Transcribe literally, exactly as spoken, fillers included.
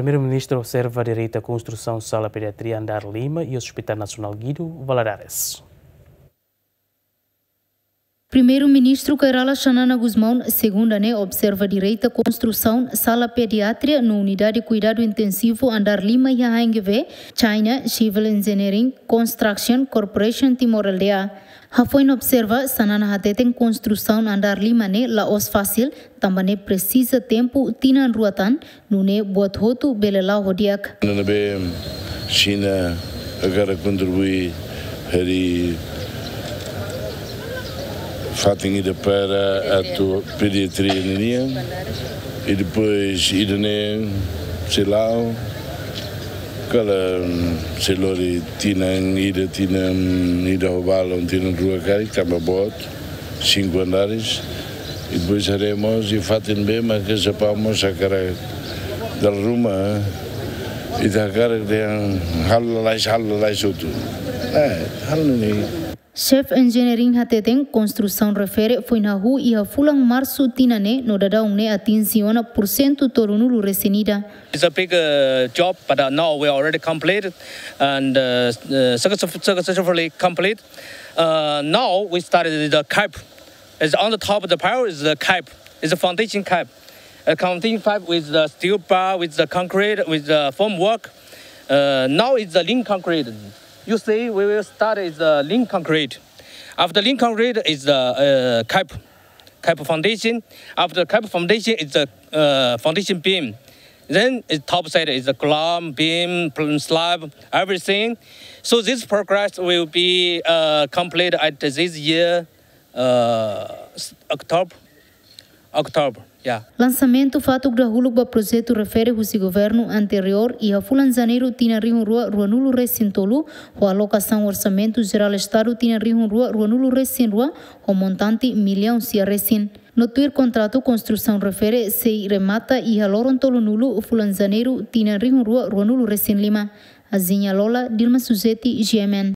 Primeiru-Ministru observa direita konstrusaun sala pediatria andár lima iha Hospital Nasionál Guido Valadares. Primeiru-Ministru Kay Rala Xanana Gusmão, segunda ne'e, observa direita konstrusaun sala pediatria no unidade kuidadu intensivu andár lima iha H N G V, China Civil Engineering Construction Corporation Timor L D A. Hafoin observa, Xanana hateten konstrusaun andár lima ne'e la'ós fasil, tanba ne'e presiza tempu tinan rua tan, nune'e buat hotu bele la'o ho di'ak. Nune'e Xina hakarak kontribui hodi fatin ida para atu pediatria ninian, i depois ida-ne'e sei la'o, kala, sei lori tinan ida, tinan ida ho balun, tinan rua karik, tanba boot, cinco andares. I depois haremos i fatin be, mas que sepamos hakarak dala ruma, i hakarak dehan halo lalais, halo lalais hotu. Eh, halo ne'e. Xefe Engineering hateten, konstrusaun refere foin hahú iha fulan Marsu tinan ne'e, no daudaun ne'e atinje ona pursentu tolunulu resin ida. It's a big, uh, job, but, uh, now we already completed and, uh, uh, success-, successfully complete. Uh, now we started the cap. It's on the top of the pile is the cap. It's a foundation cap. A foundation pipe with the steel bar, with the concrete, with the formwork. Uh, now it's the link concrete. You see, we will start is the link concrete. After link concrete is the, uh, cap, cap foundation. After cap foundation is the, uh, foundation beam. Then it's top side is the column, beam, pl-, slab, everything. So this progress will be, uh, complete at this year, uh, s-, October. October, yeah. Lansamentu fatuk dahuluk ba projetu refere husi governu anteriór iha fulan Janeiru tinan rihun rua ruanulu resin tolu, ho alokasaun orsamentu jerál Estadu tinan rihun rua ruanulu resin rua, ho montante millaun sia resin. No tuir kontratu, konstrusaun refere sei remata iha loron tolunulu fulan Janeiru tinan rihun rua ruanulu resin lima. Aziña Lola, Dilma Suzeti, G M N.